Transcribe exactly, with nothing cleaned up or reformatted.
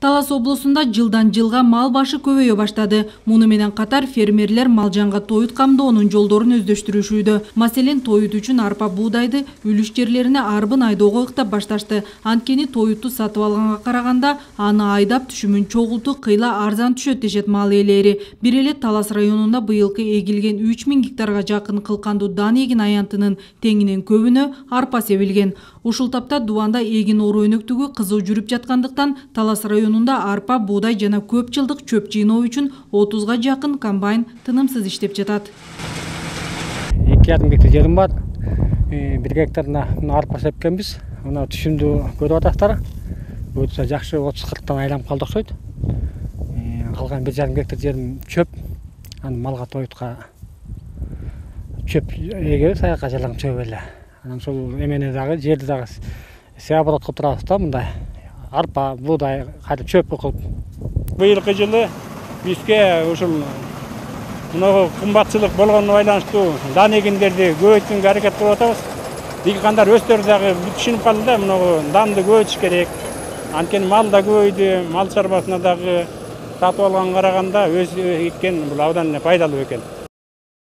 Талас облусунда жылдан жылга мал башы көбөйө баштады. Муну менен катар фермерлер малжанга тоют камдоонун жолдорун өздөштүрүшүүдө. Маселен, тоют үчүн арпа буудайды үлүш жерлерине арбын айдоого ыктап башташты. Анткени тоютту сатып алганга караганда аны айдап түшүмүн чогултуу кыйла арзан түшөт дешет мал ээлери. Бир эле Талас районунда быйылкы эгилген үч миң гектарга жакын кылкандуу дан эгин аянтынын теңинен көбүнө арпа себилген. Ушул тапта дубанда эгин ору өнөктүгү кызуу жүрүп жаткандыктан Талас районунда арпа, буудай жана көп жылдык чөп жыйноо үчүн отузга жакын комбайн тынымсыз иштеп жатат. эки жарым гектар жерим бар. бир гектарына арпа сепкенбиз. Мына түшүмдү көрүп атасыздар. Өтө жакшы отуз кырктан айланып калды окшойт. Калган бир жарым гектар жерим чөп. Аны малга тоютка чөп эгебиз, аяка жалаң чөп эле. Анан ошол эмени дагы жерди дагы сеаборот кылып турабыз да, мындай арпа, буудай, кайра чөп кылып. Быйылкы жылы бизге ушул мына кымбатчылык болгонуна байланыштуу дан эгиндерди көбөйтүүгө аракет кылып атабыз. Дыйкандар өздөрү дагы түшүнүп калды да, мына данды көбөйтүш керек. Анткени мал да көбөйдү, мал чарбасына дагы сатып алганга караганда өз эккен бул абдан пайдалуу экен.